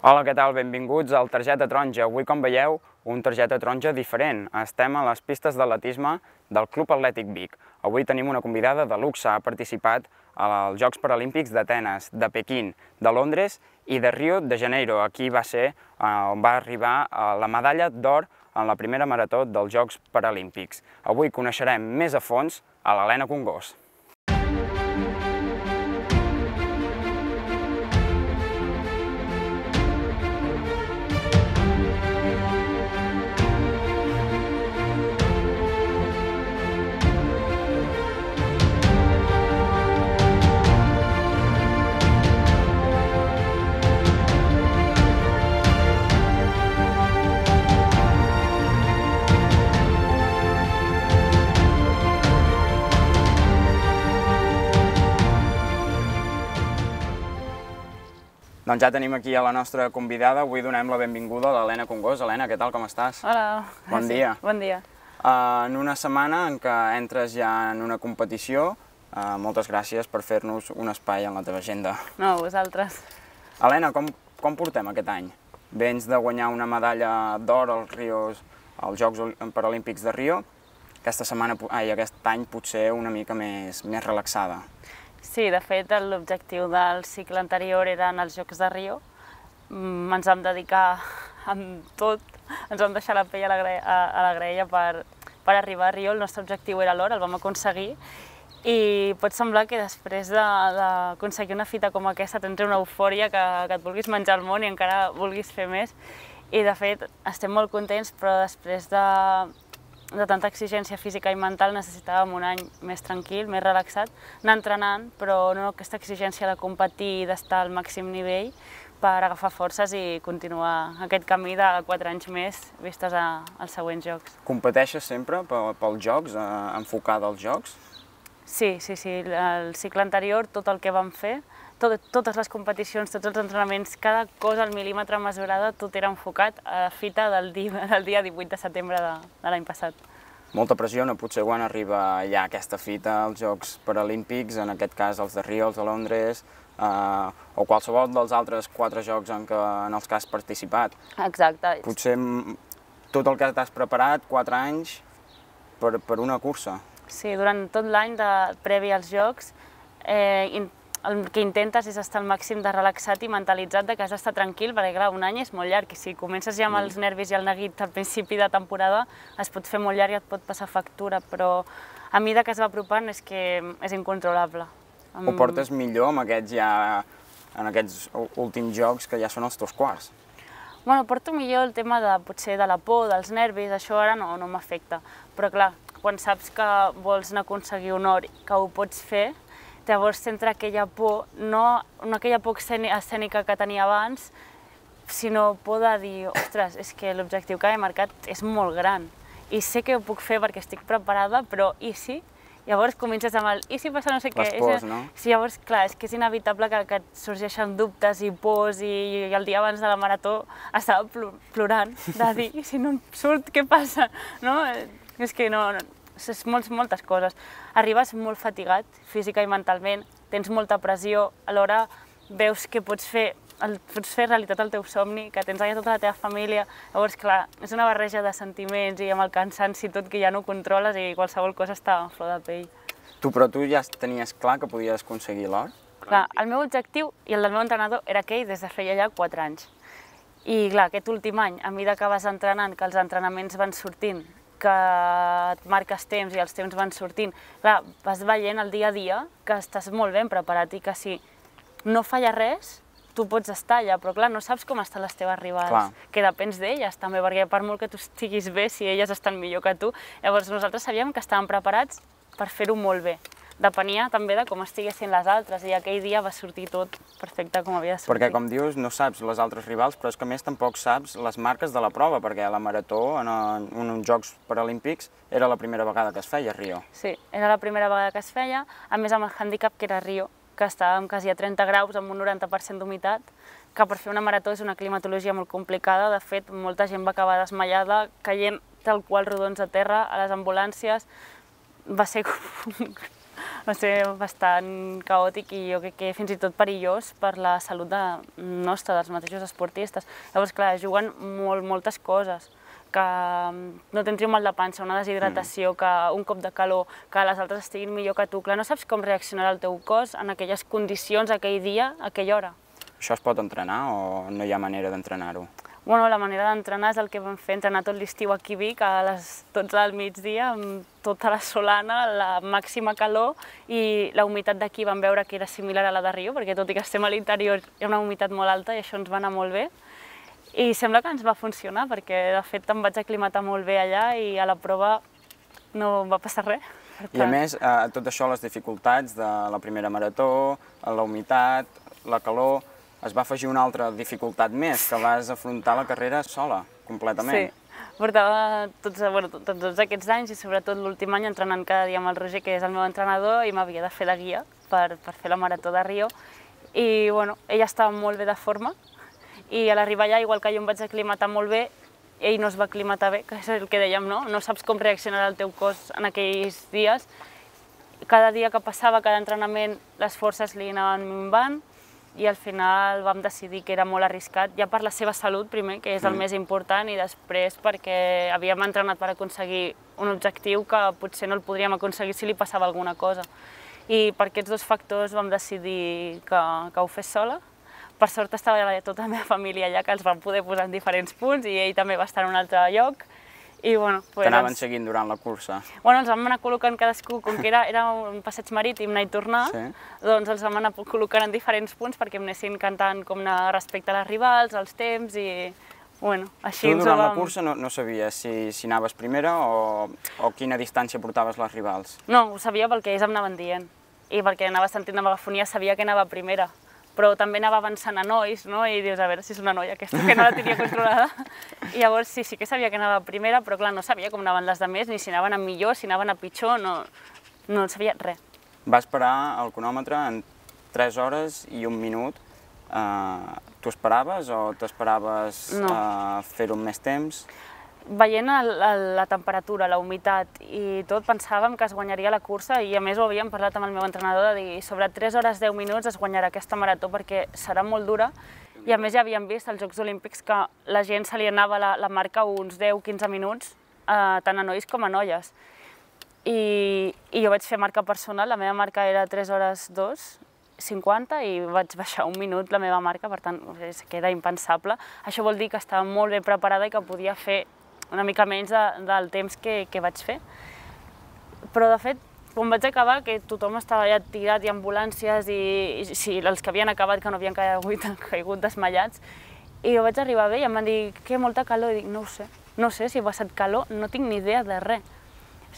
Hola, què tal? Benvinguts al Targeta Taronja. Avui, com veieu, un Targeta Taronja diferent. Estem a les pistes d'atletisme del Club Atlètic Vic. Avui tenim una convidada de luxe. Ha participat als Jocs Paralímpics d'Atenes, de Pequín, de Londres i de Rio de Janeiro. Aquí va ser on va arribar la medalla d'or en la primera marató dels Jocs Paralímpics. Avui coneixerem més a fons a l'Helena Congós. Doncs ja tenim aquí a la nostra convidada. Avui donem la benvinguda a l'Helena Congós. Helena, què tal, com estàs? Hola. Bon dia. Bon dia. En una setmana en què entres ja en una competició, moltes gràcies per fer-nos un espai en la teva agenda. No, vosaltres. Helena, com portem aquest any? Vens de guanyar una medalla d'or als Jocs Paralímpics de Rio. Aquest any potser una mica més relaxada. Sí, de fet, l'objectiu del cicle anterior eren els Jocs de Rio. Ens vam dedicar amb tot, ens vam deixar la pell a la graella per arribar a Rio. El nostre objectiu era l'or, el vam aconseguir. I pot semblar que després d'aconseguir una fita com aquesta tens una eufòria que et vulguis menjar el món i encara vulguis fer més. I de fet, estem molt contents, però després de tanta exigència física i mental necessitàvem un any més tranquil, més relaxat, anar entrenant, però no aquesta exigència de competir i d'estar al màxim nivell per agafar forces i continuar aquest camí de 4 anys més vistes als següents Jocs. Competeixes sempre pels Jocs, enfocada als Jocs? Sí. El cicle anterior, tot el que vam fer, totes les competicions, tots els entrenaments, cada cosa al mil·límetre mesurada, tot era enfocat a la fita del dia 18 de setembre de l'any passat. Molta pressió, no? Potser quan arriba ja aquesta fita als Jocs Paralímpics, en aquest cas els de Rio, els de Londres, o qualsevol dels altres 4 jocs en els que has participat. Exacte. Potser tot el que t'has preparat, 4 anys, per una cursa. Sí, durant tot l'any previ als Jocs, el que intentes és estar al màxim de relaxat i mentalitzat que has d'estar tranquil, perquè clar, un any és molt llarg i si comences ja amb els nervis i el neguit al principi de temporada es pot fer molt llarg i et pot passar factura, però a mesura que es va apropant és que és incontrolable. Ho portes millor en aquests últims jocs que ja són els teus quarts? Bueno, porto millor el tema potser de la por, dels nervis, això ara no m'afecta, però clar, quan saps que vols aconseguir un or, que ho pots fer, llavors t'entra aquella por, no aquella por escènica que tenia abans, sinó por de dir, ostres, és que l'objectiu que he marcat és molt gran i sé que ho puc fer perquè estic preparada, però i si? Llavors comences amb el i si passa no sé què. Les pors, no? Sí, llavors, clar, és que és inevitable que et sorgeixen dubtes i pors i el dia abans de la marató estava plorant de dir, i si no em surt, què passa? És que no, és moltes coses. Arribes molt fatigat, física i mentalment, tens molta pressió, alhora veus que pots fer realitat el teu somni, que tens allà tota la teva família, llavors clar, és una barreja de sentiments i amb el cansanci tot que ja no controles i qualsevol cosa està a flor de pell. Però tu ja tenies clar que podies aconseguir l'or? Clar, el meu objectiu i el del meu entrenador era aquell des de feia ja 4 anys. I clar, aquest últim any, a mesura que vas entrenant, que els entrenaments van sortint, que et marques temps i els temps van sortint, clar, vas veient el dia a dia que estàs molt ben preparat i que si no falla res, tu pots estar allà, però clar, no saps com estan les teves rivals, que depens d'elles també, perquè per molt que tu estiguis bé, si elles estan millor que tu, llavors nosaltres sabíem que estàvem preparats per fer-ho molt bé. Depenia també de com estiguessin les altres i aquell dia va sortir tot perfecte com havia de sortir. Perquè, com dius, no saps les altres rivals, però és que a més tampoc saps les marques de la prova, perquè la marató en uns Jocs Paralímpics era la primera vegada que es feia a Rio. Sí, era la primera vegada que es feia, a més amb el hàndicap que era Rio, que estàvem quasi a 30 graus amb un 90% d'humitat, que per fer una marató és una climatologia molt complicada. De fet, molta gent va acabar desmaiada, caient tal qual rodons a terra, a les ambulàncies. Va ser Va ser bastant caòtic i jo crec que fins i tot perillós per la salut nostra, dels mateixos esportistes. Llavors, clar, juguen moltes coses, que no tens un mal de panxa, una deshidratació, que un cop de calor, que les altres estiguin millor que tu. Clar, no saps com reaccionarà el teu cos en aquelles condicions, aquell dia, a aquella hora. Això es pot entrenar o no hi ha manera d'entrenar-ho? Bueno, la manera d'entrenar és el que vam fer, entrenar tot l'estiu aquí a Vic, a les 12 del migdia, amb tota la solana, la màxima calor, i la humitat d'aquí vam veure que era similar a la de Rio, perquè tot i que estem a l'interior hi ha una humitat molt alta i això ens va anar molt bé. I sembla que ens va funcionar, perquè de fet em vaig aclimatar molt bé allà i a la prova no va passar res. I a més, a tot això, les dificultats de la primera marató, la humitat, la calor, es va afegir una altra dificultat més, que vas afrontar la carrera sola, completament. Sí, portava tots aquests anys i sobretot l'últim any entrenant cada dia amb el Roger, que és el meu entrenador, i m'havia de fer de guia per fer la marató de Rio. I bueno, ella estava molt bé de forma i a l'arribar allà, igual que jo em vaig aclimatar molt bé, ell no es va aclimatar bé, que és el que dèiem, no? No saps com reaccionarà el teu cos en aquells dies. Cada dia que passava, cada entrenament, les forces li anaven minvant, i al final vam decidir que era molt arriscat, ja per la seva salut primer, que és el més important, i després perquè havíem entrenat per aconseguir un objectiu que potser no el podríem aconseguir si li passava alguna cosa. I per aquests dos factors vam decidir que ho fes sola. Per sort estava tota la meva família allà, que els vam poder posar en diferents punts, i ell també va estar en un altre lloc. T'anaven seguint durant la cursa? Bueno, ens vam anar col·locant cadascú, com que era un passeig marítim, anar i tornar, doncs ens vam anar col·locant en diferents punts perquè em anessin cantant com anar respecte a les rivals, als temps, i bueno, així ens ho vam... Tu durant la cursa no sabies si anaves primera o quina distància portaves les rivals? No, ho sabia pel que ells em anaven dient, i perquè anava sentint la megafonia sabia que anava primera. Però també anava avançant a nois, no? I dius, a veure si és una noia aquesta que no la tenia controlada. I llavors sí que sabia que anava primera, però clar, no sabia com anaven les altres, ni si anaven a millor, si anaven a pitjor, no sabia res. Vas parar el cronòmetre en 3 hores i 1 minut. T'ho esperaves o t'esperaves fer-ho en més temps? Veient la temperatura, la humitat i tot, pensàvem que es guanyaria la cursa, i a més ho havíem parlat amb el meu entrenador, de dir sobre 3 hores 10 minuts es guanyarà aquesta marató perquè serà molt dura, i a més ja havíem vist als Jocs Olímpics que la gent se li anava la marca uns 10-15 minuts, tant a nois com a noies. I jo vaig fer marca personal, la meva marca era 3 hores 2:50 i vaig baixar 1 minut la meva marca, per tant, que era impensable. Això vol dir que estava molt ben preparada i que podia fer una mica menys del temps que vaig fer. Però, de fet, quan vaig acabar, que tothom estava ja tirat i ambulàncies, i els que havien acabat que no havien caigut desmaiats, i jo vaig arribar bé i em van dir que molta calor, i dic, no ho sé si he passat calor, no tinc ni idea de res.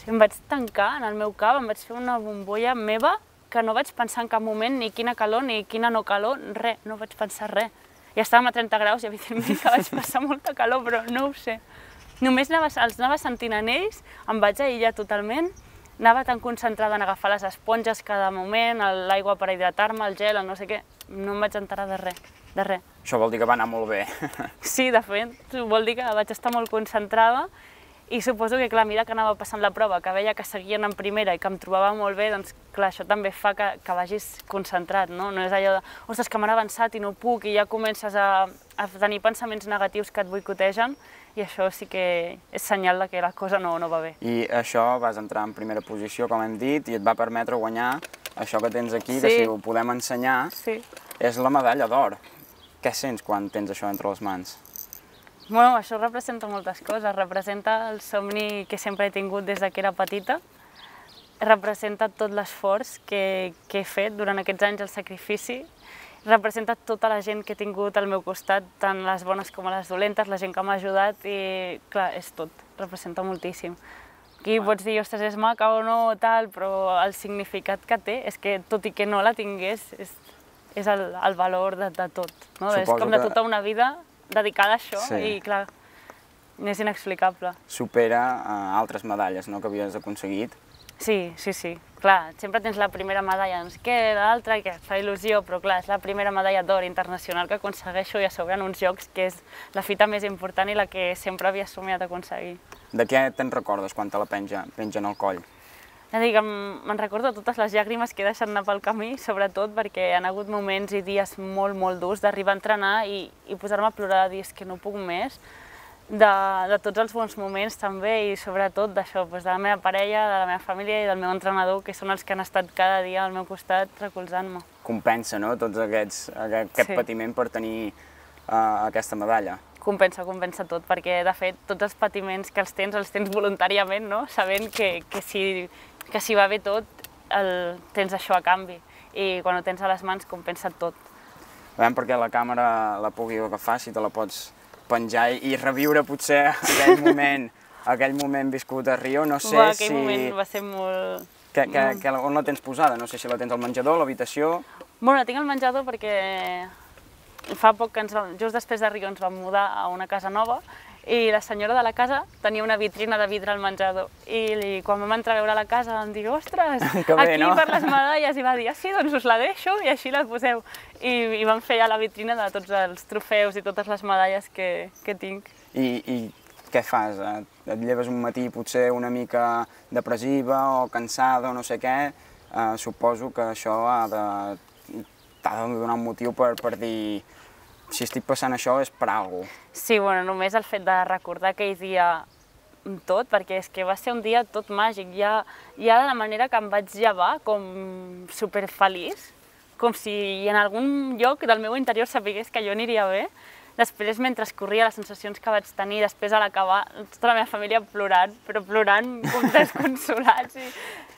Em vaig tancar en el meu cap, em vaig fer una bombolla meva que no vaig pensar en cap moment ni quina calor ni quina no calor, res, no vaig pensar res. Ja estàvem a 30 graus i evidentment que vaig passar molta calor, però no ho sé. Només els anava sentint en ells, em vaig aïllar totalment, anava tan concentrada en agafar les esponges cada moment, l'aigua per hidratar-me, el gel, el no sé què, no em vaig enterar de res, de res. Això vol dir que va anar molt bé. Sí, de fet, vol dir que vaig estar molt concentrada, i suposo que, clar, a mesura que anava passant la prova, que veia que seguien en primera i que em trobava molt bé, doncs, clar, això també fa que vagis concentrat, no? No és allò de, ostres, que m'han avançat i no puc, i ja comences a tenir pensaments negatius que et boicotegen, i això sí que és senyal que la cosa no va bé. I això vas entrar en primera posició, com hem dit, i et va permetre guanyar això que tens aquí, que si ho podem ensenyar, és la medalla d'or. Què sents quan tens això entre les mans? Bueno, això representa moltes coses. Representa el somni que sempre he tingut des que era petita. Representa tot l'esforç que he fet durant aquests anys, el sacrifici. Representa tota la gent que he tingut al meu costat, tant les bones com les dolentes, la gent que m'ha ajudat, i clar, és tot. Representa moltíssim. Aquí pots dir, ostres, és maca o no, tal, però el significat que té és que, tot i que no la tingués, és el valor de tot. És com de tota una vida dedicada a això, i clar, és inexplicable. Supera altres medalles que havies aconseguit. Sí, clar, sempre tens la primera medalla, no sé què, l'altra, que et fa il·lusió, però clar, és la primera medalla d'or internacional que aconsegueixo, i a sobre en uns jocs que és la fita més important i la que sempre havia somiat aconseguir. De què te'n recordes quan te la pengen al coll? Ja dic, me'n recordo totes les llàgrimes que he deixat anar pel camí, sobretot perquè han hagut moments i dies molt, molt durs d'arribar a entrenar i posar-me a plorar, dir que no puc més, de tots els bons moments també i sobretot d'això, de la meva parella, de la meva família i del meu entrenador, que són els que han estat cada dia al meu costat recolzant-me. Compensa, no?, tot aquest patiment per tenir aquesta medalla. Compensa tot, perquè de fet tots els patiments que els tens voluntàriament, no? Sabent que si va bé tot, tens això a canvi. I quan ho tens a les mans compensa tot. A veure, perquè la càmera la pugui agafar, si te la pots penjar i reviure potser aquell moment viscut a Rio, no sé si... Aquell moment va ser molt... On la tens posada? No sé si la tens al menjador, a l'habitació... Bueno, la tinc al menjador perquè fa poc que just després de Rio ens vam mudar a una casa nova i la senyora de la casa tenia una vitrina de vidre al menjador i quan vam entrar a veure la casa vam dir ostres, aquí per les medalles, i va dir sí, doncs us la deixo i així la poseu. I vam fer ja la vitrina de tots els trofeus i totes les medalles que tinc. I què fas? Et lleves un matí potser una mica depressiva o cansada o no sé què? Suposo que això t'ha de donar un motiu per dir si estic passant això és per alguna cosa. Sí, bueno, només el fet de recordar aquell dia tot, perquè és que va ser un dia tot màgic. Ja de la manera que em vaig llevar, com superfeliç, com si en algun lloc del meu interior sapigués que jo aniria bé. Després, mentre corria, les sensacions que vaig tenir, després a l'acabar, tota la meva família plorant, però plorant com desconsolats.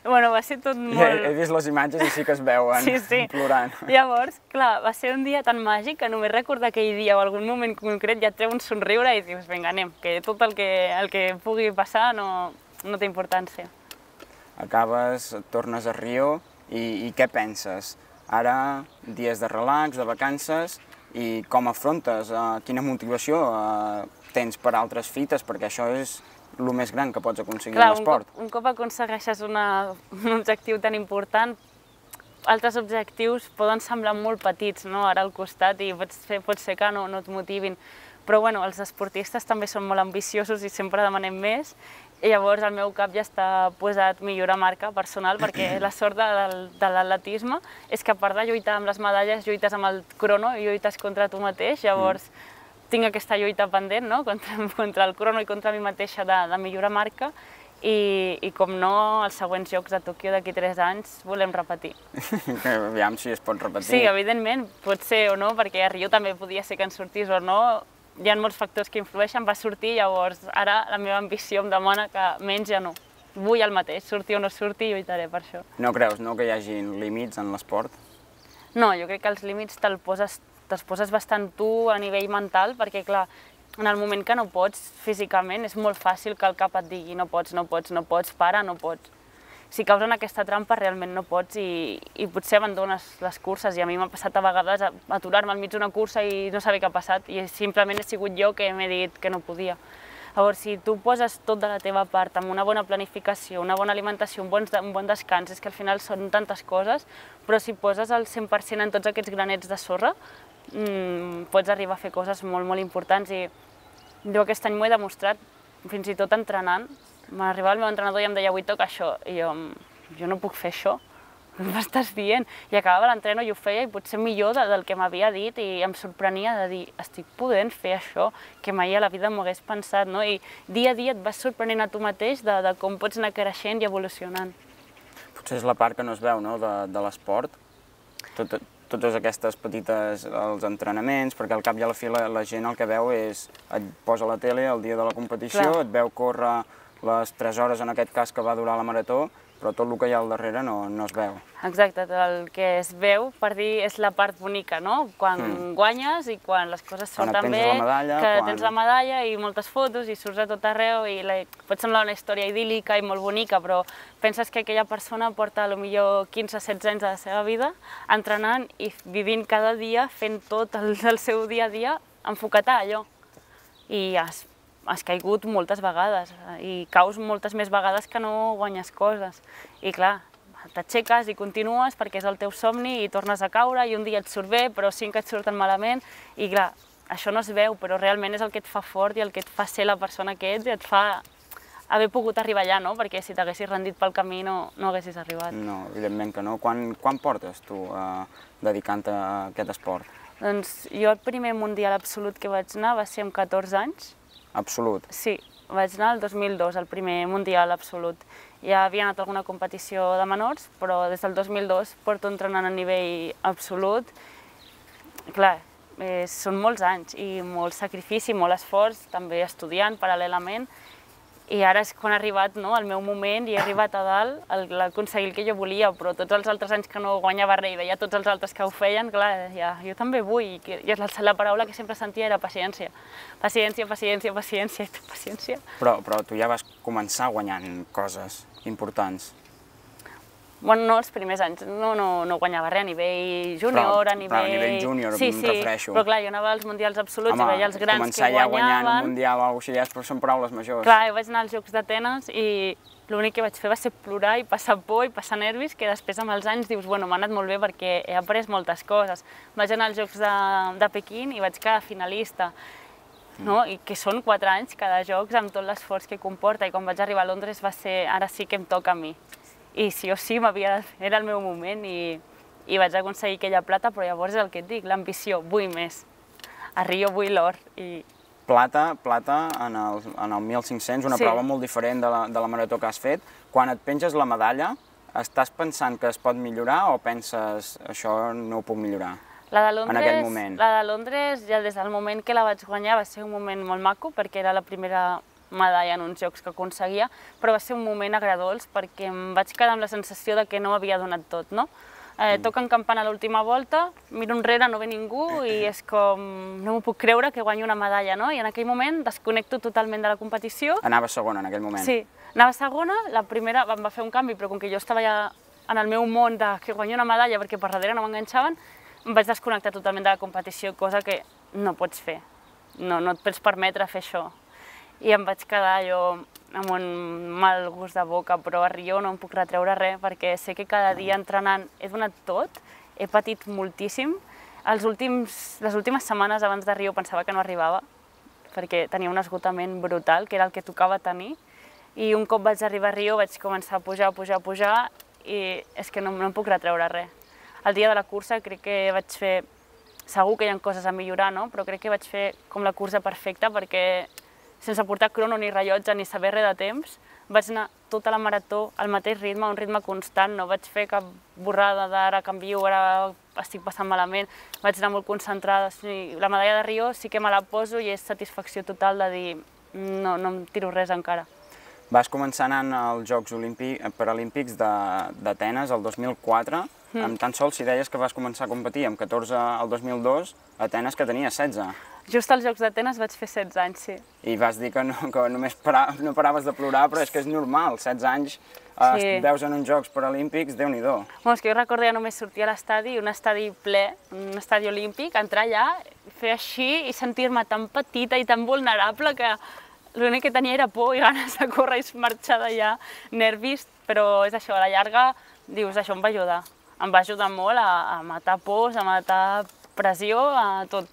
Bueno, va ser tot molt... He vist les imatges i sí que es veuen plorant. Llavors, clar, va ser un dia tan màgic que només recordar aquell dia o algun moment concret ja et treu un somriure i dius, vinga, anem, que tot el que pugui passar no té importància. Acabes, tornes a Rio i què penses? Ara, dies de relax, de vacances, i com afrontes? Quina motivació tens per altres fites? Perquè això és el més gran que pots aconseguir en l'esport. Un cop aconsegueixes un objectiu tan important, altres objectius poden semblar molt petits ara al costat i pot ser que no et motivin. Però bueno, els esportistes també són molt ambiciosos i sempre demanem més. I llavors el meu cap ja està posat millorar marca personal perquè la sort de l'atletisme és que a part de lluitar amb les medalles, lluites amb el crono i lluites contra tu mateix. Llavors tinc aquesta lluita pendent contra el crono i contra mi mateixa de millorar marca i com no, els següents Jocs de Tòquio d'aquí 3 anys volem repetir. Aviam si es pot repetir. Sí, evidentment, pot ser o no, perquè a Rio també podia ser que en sortís o no. Hi ha molts factors que influeixen, va sortir, llavors ara la meva ambició em demana que menys ja no. Vull el mateix, surti o no surti, lluitaré per això. No creus, no, que hi hagi límits en l'esport? No, jo crec que els límits te'ls poses bastant tu a nivell mental, perquè clar, en el moment que no pots físicament és molt fàcil que el cap et digui no pots, para, no pots. Si caus en aquesta trampa realment no pots i potser abandones les curses i a mi m'ha passat a vegades aturar-me al mig d'una cursa i no saber què ha passat i simplement he sigut jo que m'he dit que no podia. Llavors, si tu poses tot de la teva part amb una bona planificació, una bona alimentació, un bon descans, és que al final són tantes coses, però si poses el 100% en tots aquests granets de sorra, pots arribar a fer coses molt, molt importants i jo aquest any m'ho he demostrat, fins i tot entrenant. M'arribava el meu entrenador i em deia avui toca això, i jo no puc fer això, m'estàs dient? I acabava l'entreno i ho feia i potser millor del que m'havia dit i em sorprenia de dir estic podent fer això que mai a la vida m'ho hagués pensat, no? I dia a dia et vas sorprenent a tu mateix de com pots anar creixent i evolucionant. Potser és la part que no es veu, no?, de l'esport. Totes aquestes petites els entrenaments, perquè al cap i a la fi la gent el que veu és et posa a la tele el dia de la competició, et veu córrer les 3 hores en aquest cas que va durar la marató, però tot el que hi ha al darrere no es veu. Exacte, el que es veu, per dir, és la part bonica, no? Quan guanyes i quan les coses surten bé, que tens la medalla i moltes fotos i surts a tot arreu i pot semblar una història idíl·lica i molt bonica, però penses que aquella persona porta potser 15-16 anys de la seva vida entrenant i vivint cada dia, fent tot el seu dia a dia, enfocat a allò. I has caigut moltes vegades i caus moltes més vegades que no guanyes coses. I clar, t'aixeques i continues perquè és el teu somni i tornes a caure i un dia et surt bé, però 5 et surten malament i clar, això no es veu, però realment és el que et fa fort i el que et fa ser la persona que ets i et fa haver pogut arribar allà, no? Perquè si t'haguessis rendit pel camí no haguessis arribat. No, evidentment que no. Quan portes tu dedicant-te a aquest esport? Doncs jo el primer mundial absolut que vaig anar va ser amb 14 anys. Absolut? Sí, vaig anar el 2002, el primer mundial absolut. Ja havia anat a alguna competició de menors, però des del 2002 porto entrenant a nivell absolut. Clar, són molts anys i molt sacrifici, molt esforç, també estudiant paral·lelament. I ara és quan ha arribat el meu moment i he arribat a dalt a aconseguir el que jo volia, però tots els altres anys que no guanyava res i veia tots els altres que ho feien, clar, jo també vull. I la paraula que sempre sentia era paciència. Paciència, paciència, paciència, paciència. Però tu ja vas començar guanyant coses importants. Bueno, no, els primers anys no guanyava res a nivell júnior, a nivell... Però a nivell júnior em refereixo. Sí, però clar, jo anava als mundials absoluts i veia els grans que guanyaven. Començar ja guanyant un mundial o alguna cosa així, però són paraules majors. Clar, jo vaig anar als Jocs d'Atenes i l'únic que vaig fer va ser plorar i passar por i passar nervis, que després amb els anys dius, bueno, m'ha anat molt bé perquè he après moltes coses. Vaig anar als Jocs de Pequín i vaig quedar finalista. I que són 4 anys cada Jocs amb tot l'esforç que comporta, i quan vaig arribar a Londres va ser, ara sí que em toca a mi. I sí o sí era el meu moment i vaig aconseguir aquella plata, però llavors és el que et dic, l'ambició, vull més. A Rio vull l'or. Plata en el 1500, una prova molt diferent de la marató que has fet. Quan et penges la medalla, estàs pensant que es pot millorar o penses això no ho puc millorar en aquell moment? La de Londres, ja des del moment que la vaig guanyar, va ser un moment molt maco, perquè era la primera medalla en uns jocs que aconseguia, però va ser un moment agredolç perquè em vaig quedar amb la sensació de que no m'havia donat tot, no? Toquen campana a l'última volta, miro enrere, no ve ningú i és com, no m'ho puc creure que guanyo una medalla, no? I en aquell moment desconnecto totalment de la competició. Anaves segona en aquell moment? Sí, anava segona, la primera em va fer un canvi, però com que jo estava ja en el meu món de que guanyo una medalla perquè per darrere no m'enganxaven, em vaig desconnectar totalment de la competició, cosa que no pots fer, no et pots permetre fer això. I em vaig quedar jo amb un mal gust de boca, però a Rio no em puc retreure res, perquè sé que cada dia entrenant he donat tot, he patit moltíssim. Les últimes setmanes abans de Rio pensava que no arribava, perquè tenia un esgotament brutal, que era el que tocava tenir, i un cop vaig arribar a Rio vaig començar a pujar, i és que no em puc retreure res. El dia de la cursa crec que vaig fer, segur que hi ha coses a millorar, no? Però crec que vaig fer com la cursa perfecta, perquè sense portar crono ni rellotge ni saber res de temps, vaig anar tota la marató al mateix ritme, un ritme constant, no vaig fer cap borrada d'ara canvio, ara estic passant malament, vaig anar molt concentrada. La medalla de Rio sí que me la poso i és satisfacció total de dir no em tiro res encara. Vas començar anant als Jocs Paralímpics d'Atenes el 2004, amb tan sols si deies que vas començar a competir amb 14 al 2002, a Atenes que tenia 16. Just als Jocs d'Atenes vaig fer 16 anys, sí. I vas dir que només no paraves de plorar, però és que és normal, 16 anys, veus en uns Jocs Paralímpics, Déu-n'hi-do. És que jo recordo ja només sortir a l'estadi, un estadi ple, un estadi olímpic, entrar allà, fer així i sentir-me tan petita i tan vulnerable que l'únic que tenia era por i ganes de córrer i marxar d'allà, nervis, però és això, a la llarga dius, això em va ajudar. Em va ajudar molt a matar pors, a matar pressió, a tot.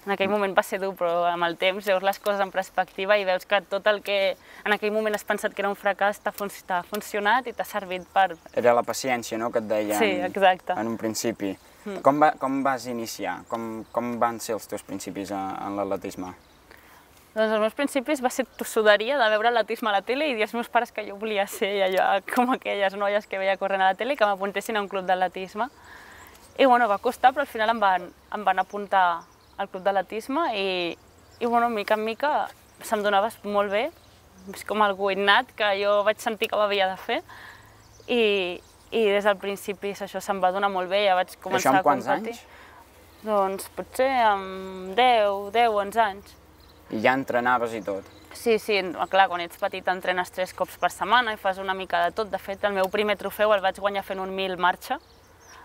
En aquell moment va ser dur, però amb el temps veus les coses en perspectiva i veus que tot el que en aquell moment has pensat que era un fracàs t'ha funcionat i t'ha servit per... Era la paciència, no?, que et deien en un principi. Com vas iniciar? Com van ser els teus principis en l'atletisme? Doncs els meus principis va ser tossuderia de veure atletisme a la tele i dir als meus pares que jo volia ser allò com aquelles noies que veia corrent a la tele i que m'apuntessin a un club d'atletisme. I bueno, va costar, però al final em van apuntar al club d'atletisme i bueno, mica en mica se'm donava molt bé, és com algú innat que jo vaig sentir que ho havia de fer i des del principi això se'm va donar molt bé, ja vaig començar a competir. Això amb quants anys? Doncs potser amb 10, 11 anys. I ja entrenaves i tot? Sí, clar, quan ets petit entrenes 3 cops per setmana i fas una mica de tot. De fet, el meu primer trofeu el vaig guanyar fent un 1000 marxa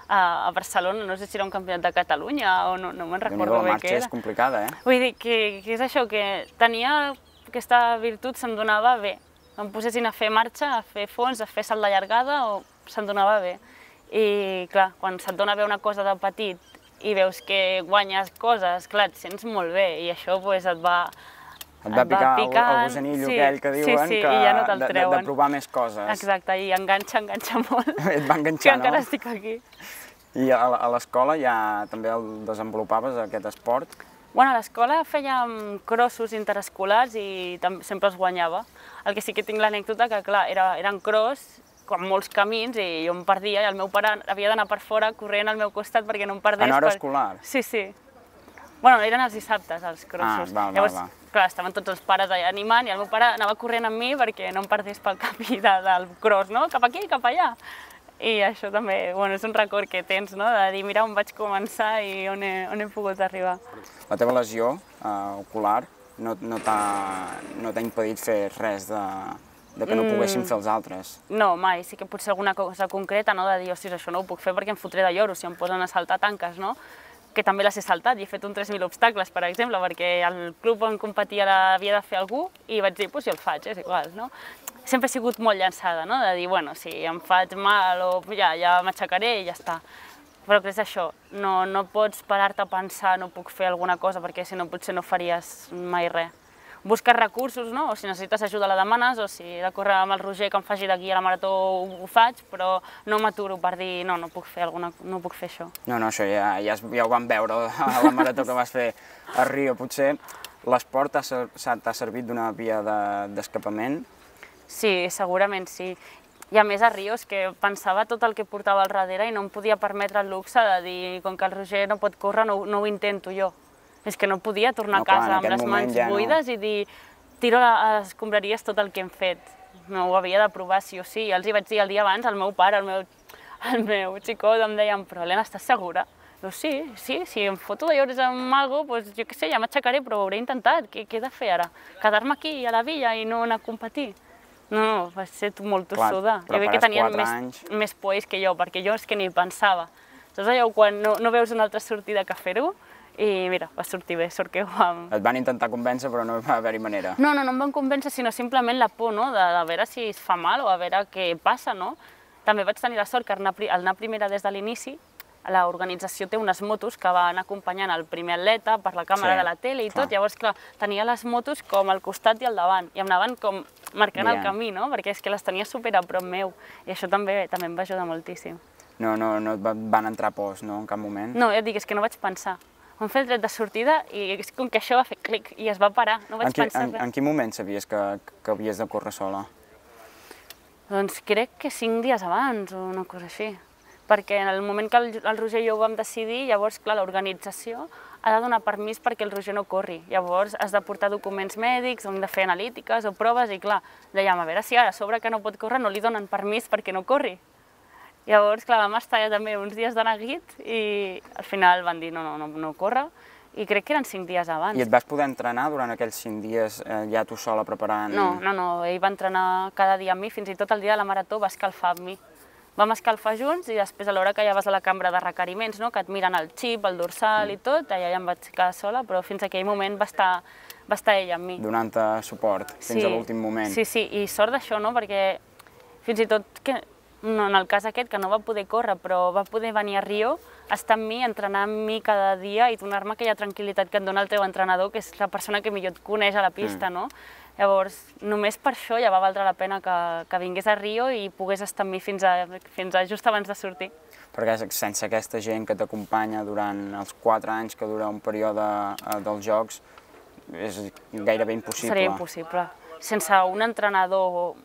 a Barcelona, no sé si era un campionat de Catalunya o no me'n recordo bé què era. La marxa és complicada, eh? Vull dir que és això, que tenia aquesta virtut, se'm donava bé. Em posessin a fer marxa, a fer fons, a fer salt de llargada, se'm donava bé. I clar, quan se't dona bé una cosa de petit i veus que guanyes coses, clar, et sents molt bé i això et va Et va picar el gusanillo aquell que diuen i ja no te'l treuen. De provar més coses. Exacte, i enganxa molt. Et va enganxar, no? Que encara estic aquí. I a l'escola ja també el desenvolupaves, aquest esport? Bueno, a l'escola fèiem crossos interescolars i sempre els guanyava. El que sí que tinc l'anècdota que, clar, eren cross, com molts camins, i jo em perdia, i el meu pare havia d'anar per fora corrent al meu costat perquè no em perdés. En hora escolar? Sí. Bueno, eren els dissabtes, els crossos. Llavors, clar, estaven tots els pares allà animant i el meu pare anava corrent amb mi perquè no em perdés pel camí del cross, no? Cap aquí, cap allà. I això també, bueno, és un record que tens, no? De dir, mira on vaig començar i on he pogut arribar. La teva lesió ocular no t'ha impedit fer res de que no poguessin fer els altres? No, mai. Sí que potser alguna cosa concreta, no? De dir, ostres, això no ho puc fer perquè em fotré de lloro si em posen a saltar tanques, no? Que també les he saltat i he fet un 3.000 obstacles, per exemple, perquè el club on competia havia de fer algú i vaig dir, doncs jo el faig, és igual, no? Sempre he sigut molt llançada, no? De dir, bueno, si em faig mal o ja m'aixecaré i ja està. Però és això, no pots parar-te a pensar, no puc fer alguna cosa, perquè si no potser no faries mai res. Busques recursos, no? O si necessites ajuda la demanes, o si he de córrer amb el Roger que em faci d'aquí a la marató ho faig, però no m'aturo per dir no puc fer això. No, això ja ho vam veure a la marató que vas fer a Rio. Potser l'esport t'ha servit d'una via d'escapament? Sí, segurament sí. I a més a Rio és que pensava tot el que portava al darrere i no em podia permetre el luxe de dir, com que el Roger no pot córrer, no ho intento jo. És que no podia tornar a casa amb les mans buides i dir, tiro a les escombraries tot el que hem fet. No ho havia de provar sí o sí. Els hi vaig dir el dia abans, el meu pare, el meu xicot em deien, però Helena, estàs segura? Jo, sí, si em foto de llores amb alguna cosa, doncs jo què sé, ja m'aixecaré, però ho hauré intentat. Què he de fer ara? Quedar-me aquí a la villa i no anar a competir? No, va ser molt tossuda. Jo crec que tenien més pols que jo, perquè jo és que ni pensava. Saps allò quan no veus una altra sortida que fer-ho? I mira, va sortir bé, sort que ho vam... Et van intentar convèncer, però no va haver-hi manera. No em van convèncer, sinó simplement la por, no?, de veure si es fa mal o a veure què passa, no? També vaig tenir la sort que al anar primera des de l'inici, l'organització té unes motos que van acompanyant el primer atleta per la càmera de la tele i tot, llavors, clar, tenia les motos com al costat i al davant, i em anaven com marcant el camí, no?, perquè és que les tenia super a prop meu, i això també em va ajudar moltíssim. No et van entrar pors, no, en cap moment? No, ja et dic, és que no vaig pensar. Vam fer el tret de sortida i és com que això va fer clic i es va parar, no vaig pensar res. En quin moment sabies que havies de córrer sola? Doncs crec que 5 dies abans o una cosa així. Perquè en el moment que el Roger i jo ho vam decidir, llavors, clar, l'organització ha de donar permís perquè el Roger no corri. Llavors has de portar documents mèdics, hem de fer analítiques o proves i, clar, dèiem, a veure si ara a sobre que no pot córrer no li donen permís perquè no corri. Llavors, clar, vam estar ja també uns dies de neguit i al final van dir no corre i crec que eren 5 dies abans. I et vas poder entrenar durant aquells 5 dies ja tu sola preparant? No, ell va entrenar cada dia amb mi, fins i tot el dia de la marató va escalfar amb mi. Vam escalfar junts i després a l'hora que ja vas a la cambra de requeriments, no?, que et miren el xip, el dorsal i tot, allà ja em vaig quedar sola, però fins a aquell moment va estar ell amb mi. Donant-te suport fins a l'últim moment. Sí, i sort d'això, no?, perquè fins i tot en el cas aquest, que no va poder córrer, però va poder venir a Rio, estar amb mi, entrenar amb mi cada dia i donar-me aquella tranquil·litat que et dona el teu entrenador, que és la persona que millor et coneix a la pista, no? Llavors, només per això ja va valdre la pena que vingués a Rio i pogués estar amb mi fins a just abans de sortir. Perquè sense aquesta gent que t'acompanya durant els 4 anys que dura un període dels Jocs, és gairebé impossible. Seria impossible. Sense un entrenador,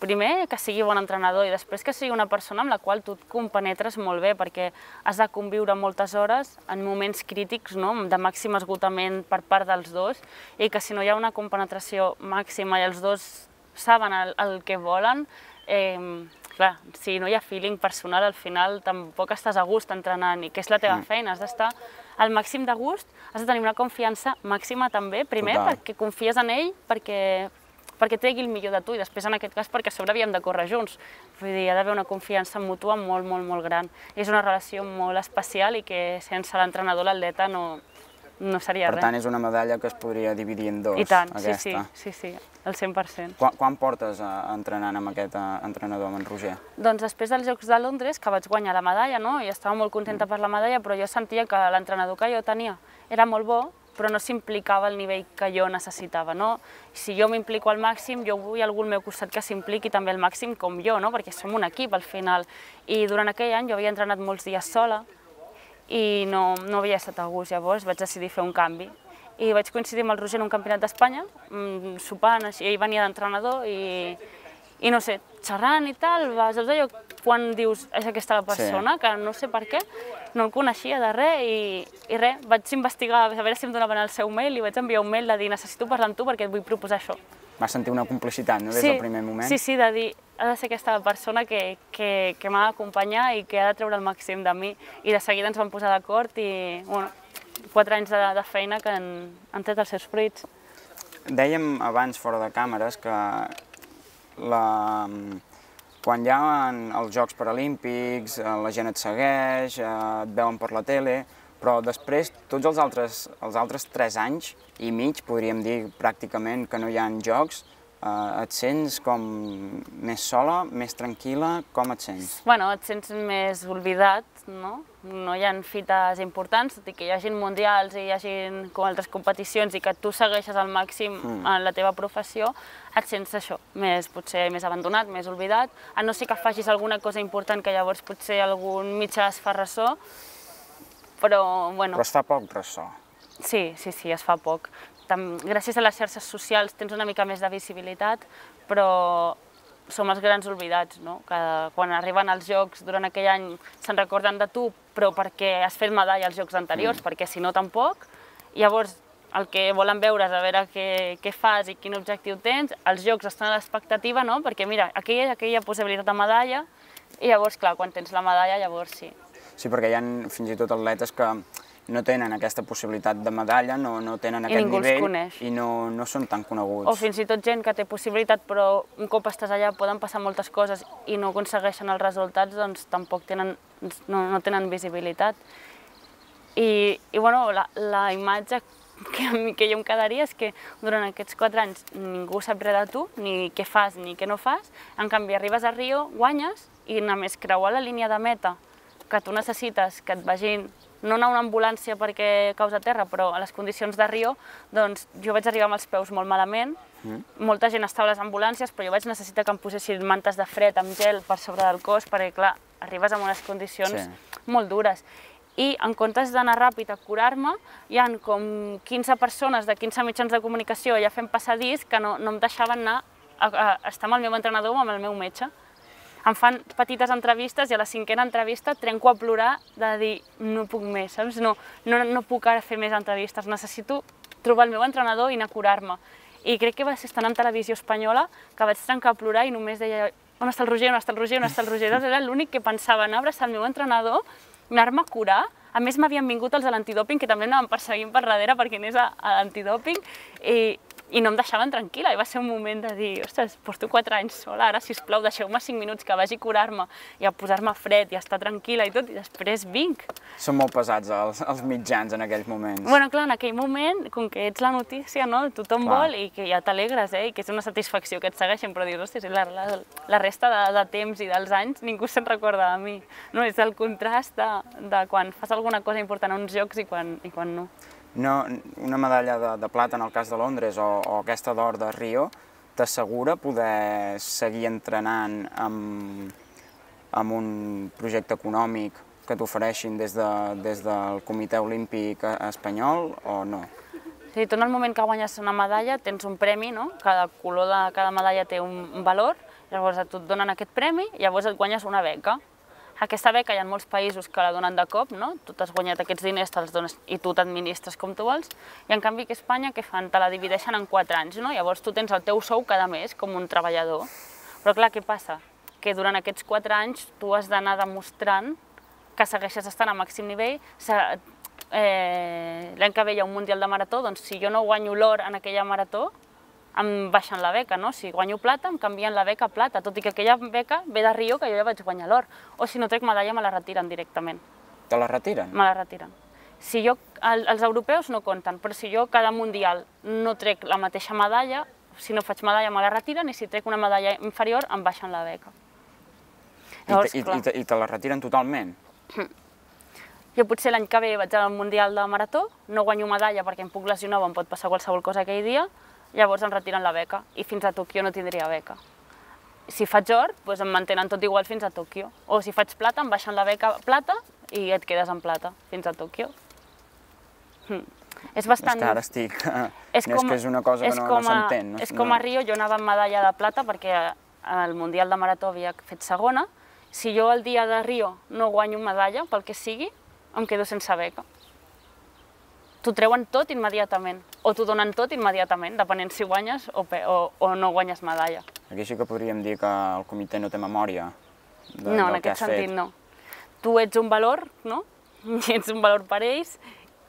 primer que sigui bon entrenador i després que sigui una persona amb la qual tu et compenetres molt bé, perquè has de conviure moltes hores en moments crítics, no?, de màxim esgotament per part dels dos, i que si no hi ha una compenetració màxima i els dos saben el que volen, clar, si no hi ha feeling personal, al final tampoc estàs a gust entrenant, i que és la teva feina, has d'estar al màxim de gust, has de tenir una confiança màxima també, primer perquè confies en ell, perquè tregui el millor de tu i després en aquest cas perquè a sobre havíem de córrer junts. Vull dir, hi ha d'haver una confiança mútua molt, molt, molt gran. És una relació molt especial i que sense l'entrenador l'atleta no seria res. Per tant, és una medalla que es podria dividir en dos, aquesta. I tant, sí, al 100%. Quan portes entrenant amb aquest entrenador, amb en Roger? Doncs després dels Jocs de Londres, que vaig guanyar la medalla, no?, i estava molt contenta per la medalla, però jo sentia que l'entrenador que jo tenia era molt bo, però no s'implicava al nivell que jo necessitava, no? Si jo m'implico al màxim, jo vull algú al meu costat que s'impliqui també al màxim com jo, no? Perquè som un equip al final. I durant aquell any jo havia entrenat molts dies sola i no havia estat a gust, llavors vaig decidir fer un canvi. I vaig coincidir amb el Roger en un campionat d'Espanya, sopant, així, ell venia d'entrenador i no sé, xerrant i tal, saps allò quan dius és aquesta la persona, que no sé per què, no el coneixia de res i res, vaig investigar a veure si em donaven el seu mail i vaig enviar un mail de dir necessito parlar amb tu perquè et vull proposar això. Vas sentir una complicitat, no?, des del primer moment? Sí, de dir ha de ser aquesta persona que m'ha d'acompanyar i que ha de treure el màxim de mi i de seguida ens vam posar d'acord i, bueno, 4 anys de feina que han tret els seus fruits. Dèiem abans, fora de càmeres, que quan hi ha els Jocs Paralímpics, la gent et segueix, et veuen per la tele, però després, tots els altres 3 anys i mig, podríem dir pràcticament que no hi ha jocs, et sents com més sola, més tranquil·la, com et sents? Bueno, et sents més oblidat, no? No hi ha fites importants, tot i que hi hagi mundials i hi hagi altres competicions i que tu segueixes al màxim en la teva professió, et sents això, potser més abandonat, més oblidat, a no ser que facis alguna cosa important que llavors potser algun mitjà es fa ressò, però bueno... Però es fa poc ressò. Sí, es fa poc. Gràcies a les xarxes socials tens una mica més de visibilitat, però som els grans oblidats, no? Que quan arriben als Jocs durant aquell any se'n recorden de tu, però perquè has fet medalla als Jocs anteriors, perquè si no tampoc. Llavors el que volen veure és a veure què fas i quin objectiu tens, els Jocs estan a l'expectativa, no? Perquè mira, aquí hi ha possibilitat de medalla i llavors, clar, quan tens la medalla, llavors sí. Sí, perquè hi ha fins i tot atletes que no tenen aquesta possibilitat de medalla, no tenen aquest nivell i no són tan coneguts. O fins i tot gent que té possibilitat però un cop estàs allà poden passar moltes coses i no aconsegueixen els resultats, doncs tampoc no tenen visibilitat. I bueno, la imatge que jo em quedaria és que durant aquests 4 anys ningú sap res de tu, ni què fas ni què no fas, en canvi arribes a Rio, guanyes i només creuar la línia de meta que tu necessites que et vagin no anar a una ambulància perquè caus a terra, però a les condicions de Rio, doncs jo vaig arribar amb els peus molt malament, molta gent estava a les ambulàncies, però jo vaig necessitar que em posessin mantes de fred amb gel per sobre del cos, perquè clar, arribes en unes condicions molt dures. I en comptes d'anar ràpid a curar-me, hi ha com 15 persones de 15 mitjans de comunicació allà fent passadís que no em deixaven anar a estar amb el meu entrenador o amb el meu metge. Em fan petites entrevistes i a la 5a entrevista trenco a plorar de dir no puc més, saps? No puc ara fer més entrevistes, necessito trobar el meu entrenador i anar a curar-me. I crec que va ser estant en televisió espanyola que vaig trencar a plorar i només deia on està el Roger, on està el Roger, on està el Roger? Era l'únic que pensava anar a abraçar el meu entrenador, anar-me a curar. A més m'havien vingut els de l'antidòping que també anaven perseguint per darrere perquè anés a l'antidòping i no em deixaven tranquil·la, i va ser un moment de dir, ostres, porto 4 anys sola, ara sisplau deixeu-me 5 minuts que vagi a curar-me i a posar-me fred i a estar tranquil·la i tot, i després vinc. Són molt pesats els mitjans en aquells moments. Bueno, clar, en aquell moment, com que ets la notícia, no? Tothom vol i que ja t'alegres, i que és una satisfacció que et segueixin, però dius, ostres, la resta de temps i dels anys ningú se'n recorda de mi. No, és el contrast de quan fas alguna cosa important a uns jocs i quan no. Una medalla de plata en el cas de Londres o aquesta d'or de Rio t'assegura poder seguir entrenant amb un projecte econòmic que t'ofereixin des del Comitè Olímpic Espanyol o no? Sí, tu en el moment que guanyes una medalla tens un premi, no? Cada color de cada medalla té un valor, llavors a tu et donen aquest premi i llavors et guanyes una beca. Aquesta beca hi ha molts països que la donen de cop, no? Tu t'has guanyat aquests diners, te'ls dones i tu t'administres com tu vols, i en canvi que a Espanya què fan? Te la divideixen en 4 anys, no? Llavors tu tens el teu sou cada mes com un treballador. Però clar, què passa? Que durant aquests 4 anys tu has d'anar demostrant que segueixes estant a màxim nivell. L'any que ve hi ha un Mundial de Marató, doncs si jo no guanyo l'or en aquella marató, em baixen la beca, no? Si guanyo plata, em canvien la beca a plata, tot i que aquella beca ve de Rio, que jo ja vaig guanyar l'or. O si no trec medalla, me la retiren directament. Te la retiren? Me la retiren. Els europeus no compten, però si jo cada mundial no trec la mateixa medalla, si no faig medalla me la retiren i si trec una medalla inferior em baixen la beca. I te la retiren totalment? Jo potser l'any que ve vaig al Mundial de Marató, no guanyo medalla perquè em puc lesionar o em pot passar qualsevol cosa aquell dia, llavors em retiren la beca i fins a Tòquio no tindria beca. Si faig or, doncs em mantenen tot igual fins a Tòquio. O si faig plata, em baixen la beca plata i et quedes en plata fins a Tòquio. És bastant... És que ara estic... És que és una cosa que no s'entén. És com a Rio, jo anava amb medalla de plata perquè al Mundial de Marató havia fet segona. Si jo el dia de Rio no guanyo medalla, pel que sigui, em quedo sense beca. T'ho treuen tot immediatament, o t'ho donen tot immediatament, depenent si guanyes o no guanyes medalla. Aquí sí que podríem dir que el comitè no té memòria del que has fet. No, en aquest sentit no. Tu ets un valor, no? I ets un valor per ells,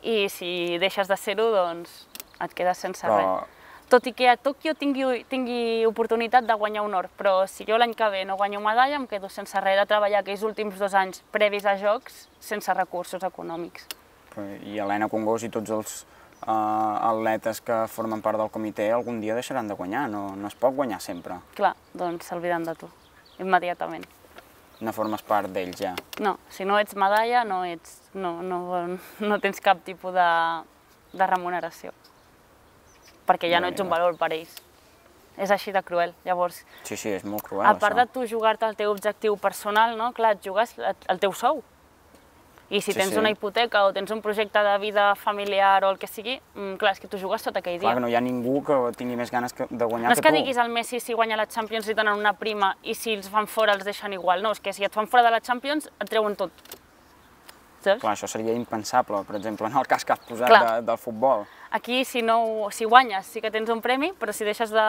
i si deixes de ser-ho, doncs et quedes sense res. Tot i que a Tòquio tingui oportunitat de guanyar un or, però si jo l'any que ve no guanyo medalla, em quedo sense res de treballar aquells últims 2 anys previs a Jocs sense recursos econòmics. I Helena Congost i tots els atletes que formen part del comitè algun dia deixaran de guanyar, no es pot guanyar sempre. Clar, doncs s'obliden de tu, immediatament. No formes part d'ells ja. No, si no ets medalla no tens cap tipus de remuneració, perquè ja no ets un valor per ells. És així de cruel, llavors... Sí, és molt cruel, això. A part de tu jugar-te el teu objectiu personal, clar, et jugues el teu sou. I si tens una hipoteca o tens un projecte de vida familiar o el que sigui, clar, és que tu jugues tot aquell dia. Clar, que no hi ha ningú que tingui més ganes de guanyar que tu. No és que diguis al Messi si guanya la Champions li donen una prima i si els fan fora els deixen igual, no, és que si et fan fora de la Champions et treuen tot. Clar, això seria impensable, per exemple, en el cas que has posat del futbol. Aquí, si guanyes, sí que tens un premi, però si deixes de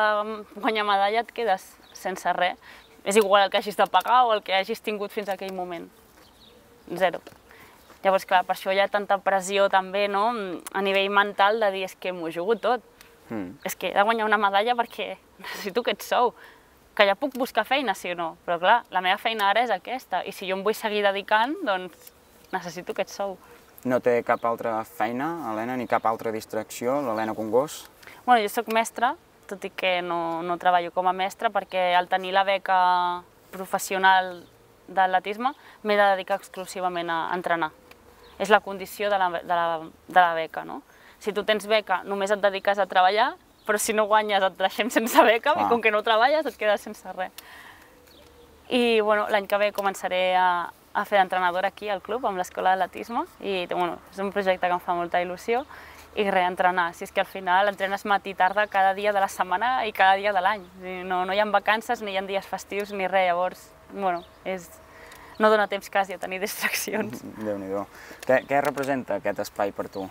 guanyar medalla et quedes sense res. És igual el que hagis de pagar o el que hagis tingut fins a aquell moment. Zero. Llavors, clar, per això hi ha tanta pressió també, no?, a nivell mental de dir, és que m'ho jugo tot. És que he de guanyar una medalla perquè necessito aquest sou. Que ja puc buscar feina, sí o no, però clar, la meva feina ara és aquesta, i si jo em vull seguir dedicant, doncs necessito aquest sou. No té cap altra feina, Helena, ni cap altra distracció, l'Helena Congost? Bueno, jo soc mestra, tot i que no treballo com a mestra, perquè al tenir la beca professional d'atletisme m'he de dedicar exclusivament a entrenar. És la condició de la beca, no? Si tu tens beca, només et dediques a treballar, però si no guanyes et deixem sense beca i com que no treballes et quedes sense res. I l'any que ve començaré a fer d'entrenadora aquí al club, amb l'escola d'atletisme, i és un projecte que em fa molta il·lusió, i reentrenar. Si és que al final entrenes matí i tarda cada dia de la setmana i cada dia de l'any. No hi ha vacances, ni hi ha dies festius, ni res, llavors, no dona temps quasi a tenir distraccions. Déu-n'hi-do. Què representa aquest espai per tu?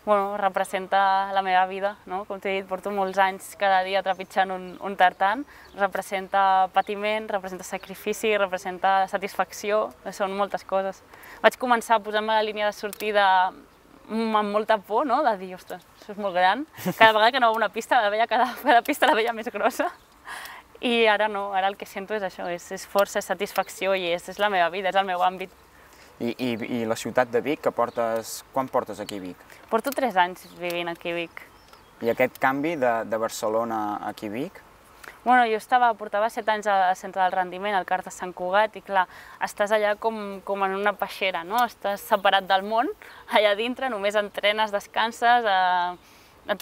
Representa la meva vida, no? Com t'he dit, porto molts anys cada dia trepitjant un tartan, representa patiment, representa sacrifici, representa satisfacció, són moltes coses. Vaig començar a posar-me a la línia de sortida amb molta por, no?, de dir, ostres, això és molt gran. Cada vegada que anava a una pista, cada pista la veia més grossa. I ara no, ara el que sento és això, és força, és satisfacció i és la meva vida, és el meu àmbit. I la ciutat de Vic, quan portes aquí a Vic? Porto 3 anys vivint aquí a Vic. I aquest canvi de Barcelona aquí a Vic? Jo portava 7 anys al centre del rendiment, al CAR de Sant Cugat, i clar, estàs allà com en una peixera, no? Estàs separat del món, allà dintre, només entrenes, descanses,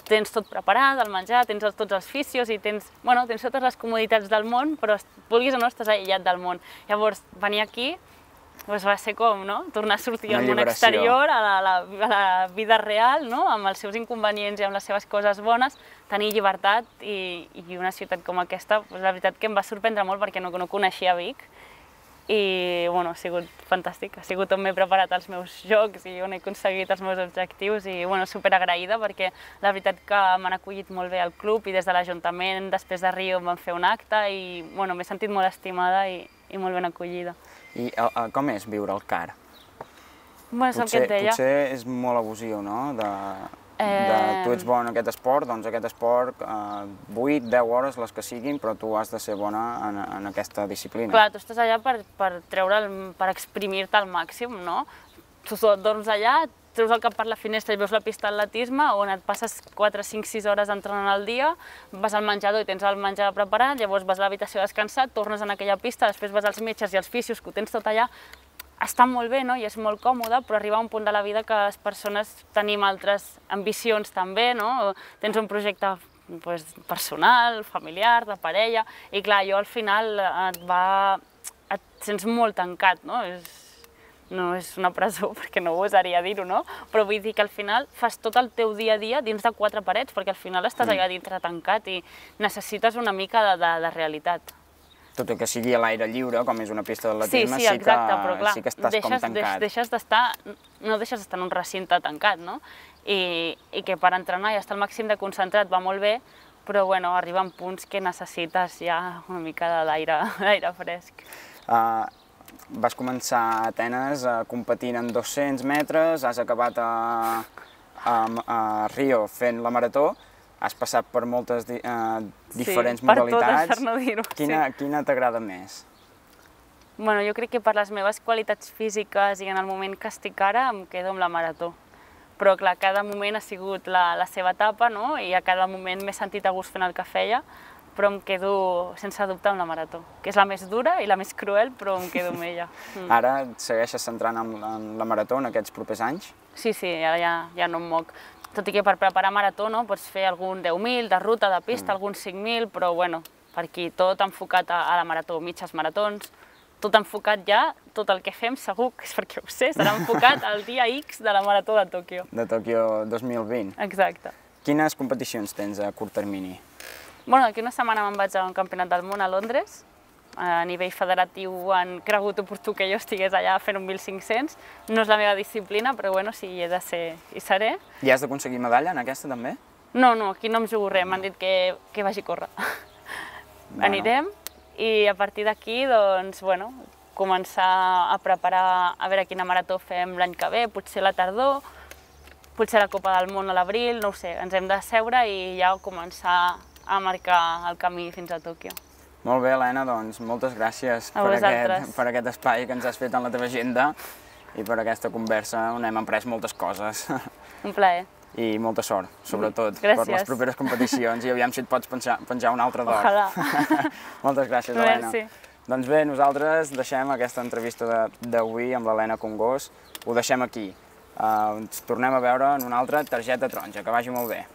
tens tot preparat, el menjar, tens tots els fisios i tens totes les comoditats del món, però vulguis o no estàs aïllat del món. Llavors, venir aquí va ser com, no?, tornar a sortir al món exterior, a la vida real, no?, amb els seus inconvenients i amb les seves coses bones, tenir llibertat i una ciutat com aquesta, la veritat que em va sorprendre molt perquè no coneixia Vic. I ha sigut fantàstic, ha sigut on m'he preparat els meus jocs i on he aconseguit els meus objectius i superagraïda perquè la veritat que m'han acollit molt bé al club i des de l'Ajuntament, després de Rio, em van fer un acte i m'he sentit molt estimada i molt ben acollida. I com és viure al CAR? És el que et deia. Potser és molt abusiu, no? Tu ets bona en aquest esport, doncs aquest esport, 8-10 hores, les que siguin, però tu has de ser bona en aquesta disciplina. Clar, tu estàs allà per exprimir-te al màxim, no? Tu dorms allà, treus el cap per la finestra i veus la pista d'atletisme, on et passes 4, 5, 6 hores entrenant al dia, vas al menjador i tens el menjar preparat, llavors vas a l'habitació a descansar, tornes en aquella pista, després vas als metges i als fisios, que ho tens tot allà. està molt bé, no? I és molt còmode, però arriba un punt de la vida que les persones tenim altres ambicions també, no? Tens un projecte personal, familiar, de parella, i clar, jo al final et sents molt tancat, no? No és una presó, perquè no gosaria dir-ho, no? Però vull dir que al final fas tot el teu dia a dia dins de 4 parets, perquè al final estàs allà dintre tancat i necessites una mica de realitat. Tot i que sigui a l'aire lliure, com és una pista d'atletisme, sí, exacte, però clar, sí que estàs com tancat. No deixes d'estar en un recinte tancat, no? I que per entrenar i estar al màxim de concentrat va molt bé, però bueno, arriben punts que necessites ja una mica d'aire fresc. Vas començar a Atenes competint en 200 metres, has acabat a Rio fent la marató, has passat per moltes diferents modalitats. Per totes, per no dir-ho. Quina t'agrada més? Bueno, jo crec que per les meves qualitats físiques i en el moment que estic ara em quedo amb la marató. Però clar, cada moment ha sigut la seva etapa, no? I a cada moment m'he sentit a gust fent el que feia, però em quedo sense dubte amb la marató, que és la més dura i la més cruel, però em quedo amb ella. Ara et segueixes centrant en la marató en aquests propers anys? Sí, ara ja no em moc. Tot i que per preparar marató pots fer algun 10.000 de ruta, de pista, alguns 5.000, però bueno, per aquí tot enfocat a la marató, mitges maratons, tot enfocat ja, tot el que fem segur que és perquè ho sé, serà enfocat al dia X de la marató de Tòquio. De Tòquio 2020. Exacte. Quines competicions tens a curt termini? Bueno, d'aquí una setmana me'n vaig a un campionat del món a Londres. A nivell federatiu han cregut oportú que jo estigués allà fent un 1.500. No és la meva disciplina, però bueno, si hi he de ser, hi seré. I has d'aconseguir medalla en aquesta també? No, aquí no em jugo res, m'han dit que vagi a córrer. Anirem i a partir d'aquí, doncs, bueno, començar a preparar a veure quina marató fem l'any que ve, potser la tardor, potser la Copa del Món a l'abril, no ho sé, ens hem de seure i ja començar a marcar el camí fins a Tòquio. Molt bé, Helena, doncs moltes gràcies per aquest espai que ens has fet en la teva agenda i per aquesta conversa on hem après moltes coses. Un plaer. I molta sort, sobretot, per les properes competicions i aviam si et pots penjar un altre d'or. Ojalà. Moltes gràcies, Helena. Merci. Doncs bé, nosaltres deixem aquesta entrevista d'avui amb l'Helena Congós, ho deixem aquí. Ens tornem a veure en una altra targeta taronja, que vagi molt bé.